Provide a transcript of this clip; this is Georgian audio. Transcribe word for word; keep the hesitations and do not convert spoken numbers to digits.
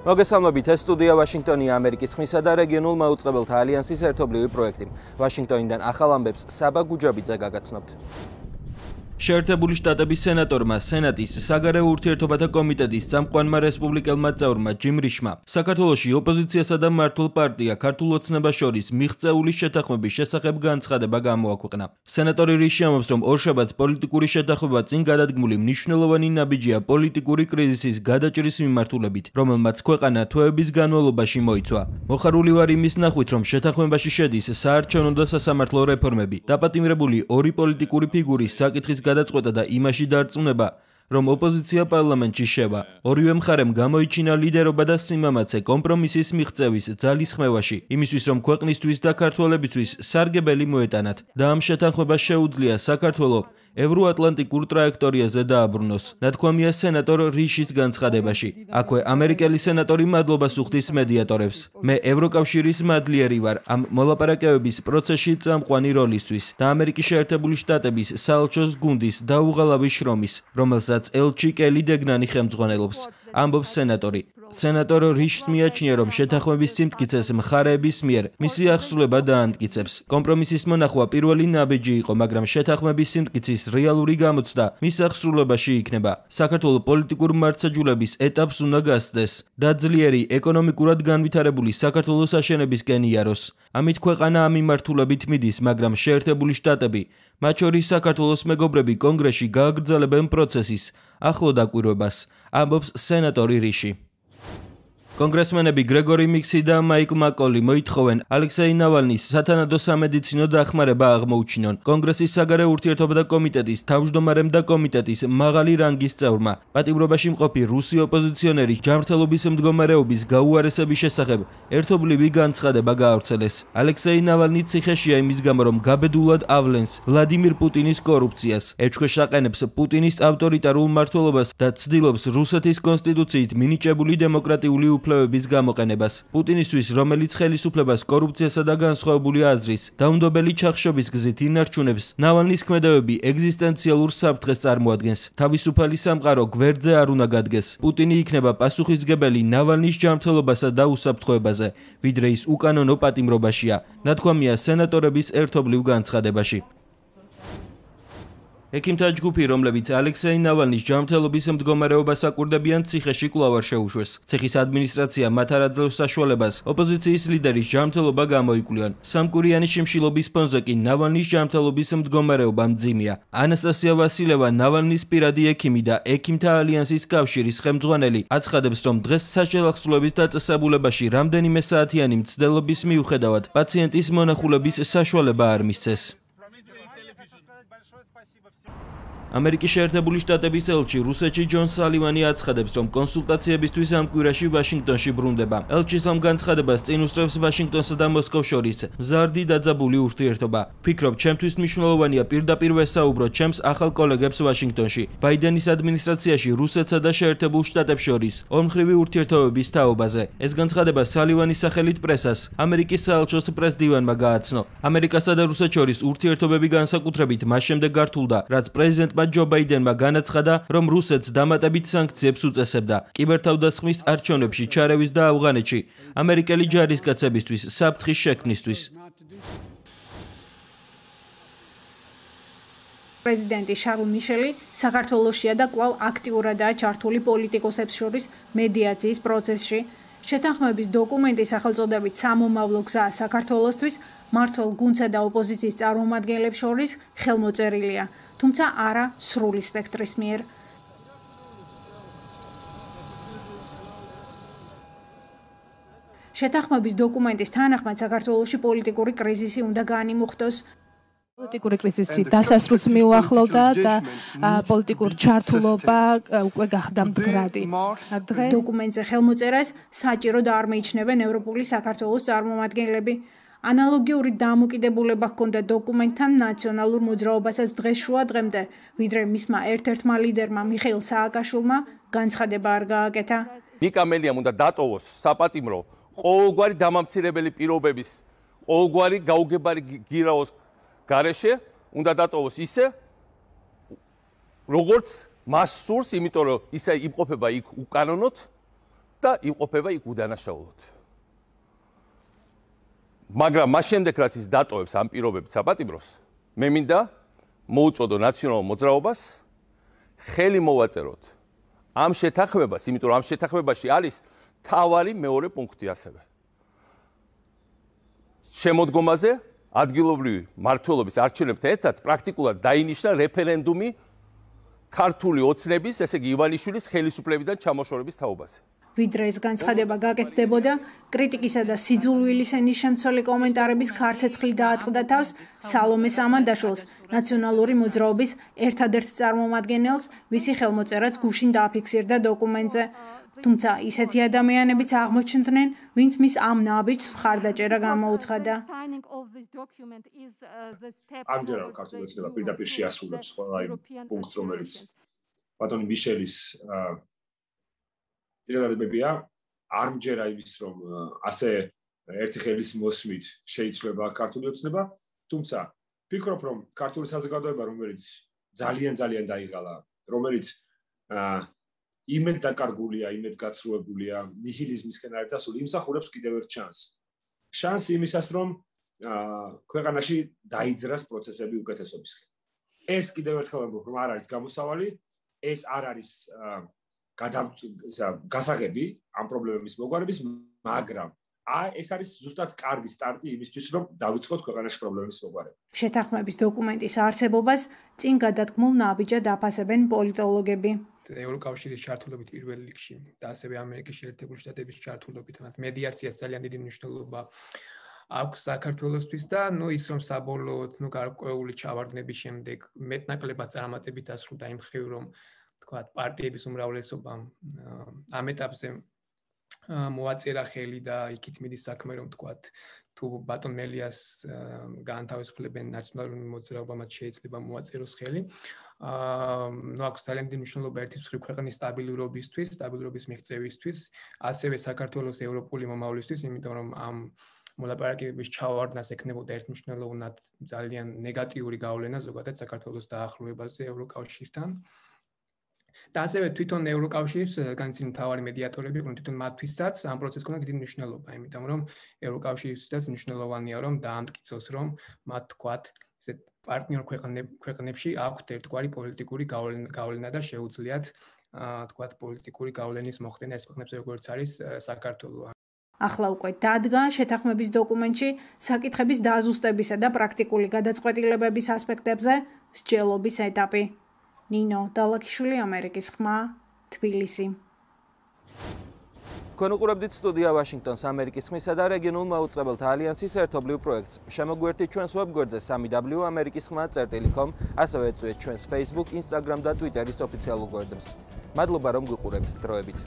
მოგესალმებით, ეს სტუდია ვაშინგტონია, ამერიკის ხმისა და რეგიონულ მაუწყებელთა ალიანსის ერთობლივი პროექტი. ვაშინგტონიდან ახალ ამბებს საბა გუჯაბიძე გაგაცნობთ. შეერთებული შტატების სენატორმა სენატის საგარეო ურთიერთობათა კომიტეტის წამყვანმა რესპუბლიკელმა წევრმა ჯიმ რიშმა საქართველოში ოპოზიციასა და მართლ პარტია ქართულ ოცნებას შორის მიღწეული შეთანხმების შესახებ განცხადება გამოაქვეყნა. სენატორი რიში ამბობს, რომ ორშაბათს პოლიტიკური შეთანხმება წინ გადადგმული მნიშვნელოვანი ნაბიჯია პოლიტიკური კრიზისის გადაჭრის მიმართულებით, რომელმაც ქვეყანა თვეების განმავლობაში მოიცვა. მოხარული ვარ იმის ნახვით, რომ შეთანხმებაში შედის საარჩევნო და სასამართლო რეფორმები, დაპატიმრებული ორი პოლიტიკური ფიგურის საკითხის გადაწყვეტა და იმაში დარწმუნება, რომ ოპოზიცია პარლამენტში შევა. ორივე მხარემ გამოიჩინა ლიდერობა და სიმამაცე კომპრომისის მიღწევის ძალის ხმევაში, იმისთვის რომ ქვეყნისთვის და ქართველებისთვის სარგებელი მოეტანათ და ამ შეთანხმებას შეუძლია საქართველო ევროატლანტიკურ ტრაექტორიაზე დააბრუნოს. ნათქვამია სენატორ რიშის განცხადებაში. აქვე ამერიკელი სენატორი მადლობას უხდის მედიატორებს. მე ევროკავშირის მადლიერი ვარ ამ მოლაპარაკებების პროცესში წამყვანი როლისთვის და ამერიკის შეერთებული შტატების საელჩოს გუნდის დაუღალავი შრომის, რომელსაც ელჩი კელი დეგნანი ხელმძღვანელობს, ამბობს სენატორი. სენატორ რიშს მიაჩნია, რომ შეთანხმების სიმტკიცეს მხარეების მიერ მისი აღსრულება დაამტკიცებს. კომპრომისის მონახვა პირველი ნაბიჯი იყო, მაგრამ შეთანხმების სიმტკიცის რეალური გამოცდა მის აღსრულებაში იქნება. საქართველოს პოლიტიკურ მართლმსაჯულების ეტაპს უნდა გასცდეს და ძლიერი ეკონომიკურად განვითარებული საქართველოს აშენებისკენ იაროს. ამით ქვეყანა ამ მიმართულებით მიდის, მაგრამ შეერთებული შტატები, მათ შორის საქართველოს მეგობრები კონგრესში გააგრძელებენ პროცესის ახლო დაკვირვებას, ამბობს სენატორი რიში. კონგრესმენები გრეგორი მიქსი და მაიკლ მაკოლი მოითხოვენ ალექსეი ნავალნის სათანადო სამედიცინო დახმარება აღმოუჩინონ. კონგრესის საგარეო ურთიერთობათა კომიტეტის თავმჯდომარემ და კომიტეტის მაღალი რანგის წევრმა პატიმრობაში მყოფი რუსი ოპოზიციონერი ჯანმრთელობის მდგომარეობის გაუარესების შესახებ ერთობლივი განცხადება გაავრცელეს. ალექსეი ნავალნი ციხეშია იმის გამო, რომ გაბედულად ავლენს ვლადიმირ პუტინის კორუფციას, ეჭქვეშ აყენებს პუტინის ავტორიტარულ მმართველობას და ცდილობს რუსეთის კონსტიტუციით მინიჭებული დემოკრატიული უფლებების გამოყენებას. პუტინისთვის, რომელიც ხელისუფლებას კორუფციასა და განსხვავებული აზრის დაუნდობელი ჩახშობის გზით ინარჩუნებს, ნავალნის ქმედებები ეგზისტენციალურ საფრთხეს წარმოადგენს. თავისუფალი სამყარო გვერდზე არ უნდა გადგეს. პუტინი იქნება პასუხისმგებელი ნავალნის ჯანმრთელობასა და უსაფრთხოებაზე, ვიდრე ის უკანონო პატიმრობაშია, ნათქვამია სენატორების ერთობლივ განცხადებაში. ექიმთა ჯგუფი, რომლებიც ალექსეი ნავალნის ჯანმრთელობის მდგომარეობას აკვირდებიან, ციხეში კვლავ არ შეუშვეს. ციხის ადმინისტრაცია მათ არ აძლევს საშუალებას ოპოზიციის ლიდერის ჯანმრთელობა გამოიკვლიონ. სამკვირიანი შიმშილობის ფონზე კი ნავალნის ჯანმრთელობის მდგომარეობა მძიმეა. ანასტასია ვასილევა, ნავალნის პირადი ექიმი და ექიმთა ალიანსის კავშირის ხელმძღვანელი, აცხადებს, რომ დღეს საშელახსრულების დაწესებულებაში რამდენიმე საათიანი მცდელობის მიუხედავად პაციენტის მონახულების საშუალება არ მისცეს. ამერიკის შეერთებული შტატების ელჩი რუსეთში ჯონ სალივანი აცხადებს, რომ კონსულტაციებისთვის ამ კვირაში ვაშინგტონში ბრუნდება. ელჩის ამ განცხადებას წინ უსწრებს ვაშინგტონსა და მოსკოვს შორის მზარდი დაძაბული ურთიერთობა. ვფიქრობ, ჩემთვის მნიშვნელოვანია პირდაპირ ვესაუბრო ჩემს ახალ კოლეგებს ვაშინგტონში, ბაიდენის ადმინისტრაციაში რუსეთსა და შეერთებულ შტატებს შორის ორმხრივი ურთიერთობების თაობაზე. ეს განცხადება სალივანის სახელით პრესას, ამერიკის საელჩოს პრესდივანმა გააცნო. ამერიკასა და რუსეთს შორის ურთიერთობები განსაკუთრებით მას შემდეგ გართულდა, რაც პრეზიდენტ ჯო ბაიდენმა განაცხადა, რომ რუსეთს დამატებით სანქციებს უწესებდა კიბერთავდასხმის არჩევნებში ჩარევის და ავღანეთში ამერიკელი ჯარისკაცებისთვის საფრთხის შექმნისთვის. პრეზიდენტი შარლ მიშელი საქართველოშია და კვლავ აქტიურადაა ჩართული პოლიტიკოსებს შორის მედიაციის პროცესში. შეთანხმების დოკუმენტი სახელწოდებით სამომავლო გზა საქართველოსთვის მმართველ გუნდსა და ოპოზიციის წარმომადგენლებს შორის ხელმოწერილია, თუმცა არა სრული სპექტრის მიერ. შეთანხმების დოკუმენტის თანახმად საქართველოში პოლიტიკური კრიზისი უნდა განიმუხტოს. პოლიტიკური კრიზისი დასასრულს მიუახლოვდა და პოლიტიკური ჩართულობა უკვე გახდა მდგრადი. დღეს დოკუმენტზე ხელმოწერას საჭირო და არ მიიჩნევენ ევროპული საქართველოს წარმომადგენლები. ანალოგიური დამოკიდებულება ჰქონდა დოკუმენტთან ნაციონალურ მოძრაობასაც დღეს შუა დღემდე, ვიდრე მისმა ერთ-ერთმა ლიდერმა მიხეილ სააკაშვილმა განცხადება არ გააკეთა. ნიკა მელიამ უნდა დატოვოს საპატიმრო ყოველგვარი დამამცირებელი პირობების, ყოველგვარი გაუგებარი გირაოს გარეშე უნდა დატოვოს ისე, როგორც მას სურს, იმიტომ რომ ისე იმყოფება იქ უკანონოდ და იმყოფება იქ უდანაშაულოდ. მაგრამ მას შემდეგ რაც ის დატოვებს ამ პირობებით საპატიმროს, მე მინდა მოუწოდო ნაციონალურ მოძრაობას ხელი მოვაწეროთ ამ შეთანხმებას, იმიტომ რომ ამ შეთანხმებაში არის თავარი მეორე პუნქტი ასევე. შემოდგომაზე ადგილობრივი მმართველობის არჩევნებთან ერთად პრაქტიკულად დაინიშნა რეფერენდუმი ქართული ოცნების, ესე იგი ივანიშვილის ხელისუფლებიდან ჩამოშორების თაობაზე. ვიდრე ეს განცხადება გაკეთდებოდა, კრიტიკისა და სიძულვილის ენის შემცველი კომენტარების ქარცეცხლი დაატყდა თავს სალომე სამანდაშვილს, ნაციონალური მოძრაობის ერთადერთ წარმომადგენელს, ვისი ხელმოწერაც გუშინ დააფიქსირდა დოკუმენტზე. თუმცა ისეთი ადამიანებიც აღმოჩნდნენ, ვინც მის ამ ნაბიჯს მხარდაჭერა გამოუცხადა. ამჯერად ქართული ოცნება პირდაპირ შეასრულებს ყველა იმ პუნქტს, რომელიც ბატონი მიშელის ძირითადებებია, არ მჯერა იმის, რომ ასე ერთი ხელის მოსმით შეიცვლება ქართული ოცნება, თუმცა ვფიქრობ, რომ ქართული საზოგადოება, რომელიც ძალიან ძალიან დაიღალა, რომელიც იმედ დაკარგულია, იმედ გაცრუებულია, ნიჰილიზმისკენ არის წასული, იმსახურებს კიდევ ერთ შანსს. შანსი იმისას, რომ ქვეყანაში დაიძრას პროცესები უკეთესობისკენ. ეს კიდევ ერთხელ ვამბობ, რომ არ არის გამოსავალი, ეს არ არის გასაღები ამ პრობლემების მოგვარების, მაგრამ ეს არის ზუსტად კარგი სტარტი იმისთვის, რომ დავიწყოთ ქვეყანაში პრობლემების მოგვარება. შეთანხმების დოკუმენტის არსებობას წინ გადადგმულ ნაბიჯად აფასებენ პოლიტოლოგები. ევროკავშირის ჩართულობით პირველ რიგში და ასევე ამერიკის შეერთებული შტატების ჩართულობით მედიაციას ძალიან დიდი მნიშვნელობა აქვს საქართველოსთვის და ნუ ის რომ საბოლოოდ ნუ გარკვეული ჩავარდნების შემდეგ მეტნაკლებად წარმატებით დასრულდა იმ მხრივ რომ თქვა პარტიების უმრავლესობამ ამ ეტაპზე მოაწერა ხელი და იქით მიდის საქმე რომ თქვა თუ ბატონ მელიას გაანთავისუფლებენ ნაციონალური მოძრაობა მათ შეიძლება მოაწეროს ხელი. ნუ აქვს ძალიან დიდი მნიშვნელობა ერთის მხრივ ქვეყნის სტაბილურობისთვის, სტაბილურობის მიღწევისთვის, ასევე საქართველოს ევროპული მომავლისთვის, იმიტომ რომ ამ მოლაპარაკებების ჩავარდნას ექნებოდა ერთმნიშვნელოვნად ძალიან ნეგატიური გავლენა ზოგადად საქართველოს დაახლოებაზე ევროკავშირთან. და ასევე თვითონ ევროკავშირის განცინი მთავარი მედიატორები იყვნენ თვითონ მათთვისაც ამ პროცესს ქონდა დიდი მნიშვნელობა, იმიტომ რომ ევროკავშირისთვისაც მნიშვნელოვანია რომ დაამტკიცოს რომ მათ თქვათ ესეთ პარტნიორ ქვეყნებში აქვთ ერთგვარი პოლიტიკური გავლენა და შეუძლიათ თქვათ პოლიტიკური გავლენის მოხდენა ეს ქვეყნებზე როგორც არის საქართველო. ახლა უკვე დადგა შეთანხმების დოკუმენტში საკითხების დაზუსტებისა და პრაქტიკული გადაწყვეტილებების ასპექტებზე მსჯელობის ეტაპი. ნინო დალაკიშვილი, ამერიკის ხმა, თბილისი. თქვენ უყურებდით სტუდია ვაშინგტონს ამერიკის ხმისა და რეგიონულ მაუწყებელთა ალიანსის ერთობლივ პროექტს. შემოგვიერთდით ჩვენს ვებგვერდზე სამი დაბლიუ ამერიკის ხმა წერტილი კომ, ასევე ეწვიეთ ჩვენს Facebook, Instagram და Twitteris ოფიციალურ გვერდებს. მადლობა რომ გვიყურებთ, დროებით.